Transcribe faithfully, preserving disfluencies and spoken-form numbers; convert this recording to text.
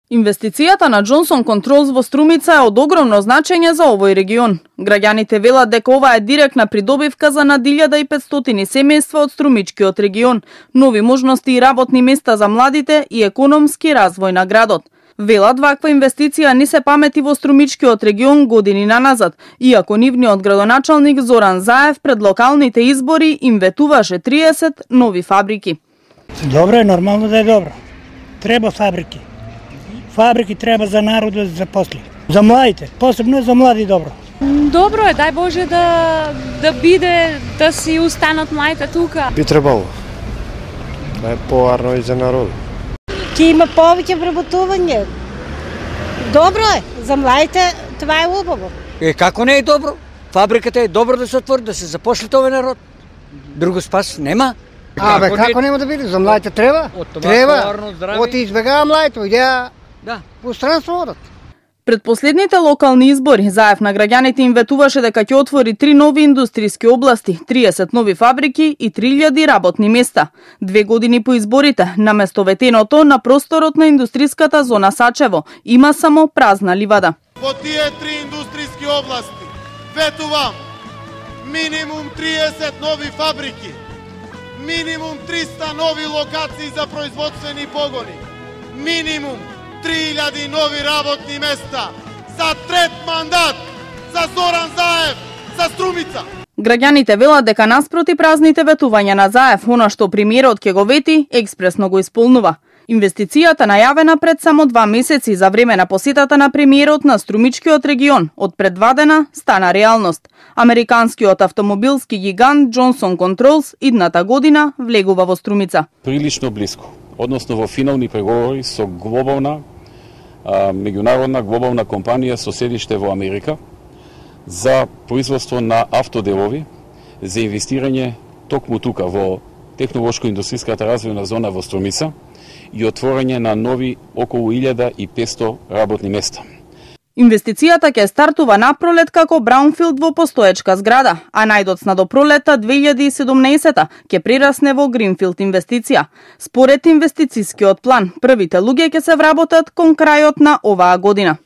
Инвестицијата на Johnson Controls во Струмица е од огромно значење за овој регион. Граѓаните велат дека ова е директна придобивка за над илјада и петстотини семејства од струмичкиот регион, нови можности и работни места за младите и економски развој на градот. Велат ваква инвестиција не се памети во струмичкиот регион години наназад, иако нивниот градоначалник Зоран Заев пред локалните избори им ветуваше триесет нови фабрики. Добро е, нормално да е добро. Треба фабрики. Фабрики треба за народот да запосли. За младите, посебно за млади добро. Добро е, дај Боже да да биде да си устанат младите тука. Би требало. Да е поарно и за народ. Ќе има повеќе вработување. Добро е, за младите това е убаво. Е, како не е добро? Фабриката е добро да се отвори, да се запошли овој народ. Друго спас нема. А, бе, како нема да биде? За младите треба? Треба. Оти избегава младите, идеја да по странство одат. Пред последните локални избори, Заев на граѓаните им ветуваше дека ќе отвори три нови индустријски области, триесет нови фабрики и три илјади работни места. Две години по изборите, наместо ветеното на просторот на индустријската зона Сачево, има само празна ливада. Во тие три индустријски области ветувам минимум триесет нови фабрики, минимум триста нови локации за производствени погони, минимум три илјади нови работни места за трет мандат за Зоран Заев, за Струмица. Граѓаните велат дека наспроти празните ветувања на Заев, она што премиерот ќе го вети, експресно го исполнува. Инвестицијата најавена пред само два месеци за време на посетата на премиерот на струмичкиот регион од пред два дена стана реалност. Американскиот автомобилски гигант Johnson Controls идната година влегува во Струмица. Прилично блиско, односно во финални преговори со глобална а, меѓународна глобална компанија со седиште во Америка за производство на автоделови за инвестирање токму тука во технолошко-индустријската развојна зона во Струмица и отворање на нови околу илјада и петсто работни места. Инвестицијата ќе стартува напролет како браунфилд во постоечка зграда, а најдоцна до пролета две илјади и седумнаесета ќе прерасне во гринфилд инвестиција. Според инвестицијскиот план, првите луѓе ќе се вработат кон крајот на оваа година.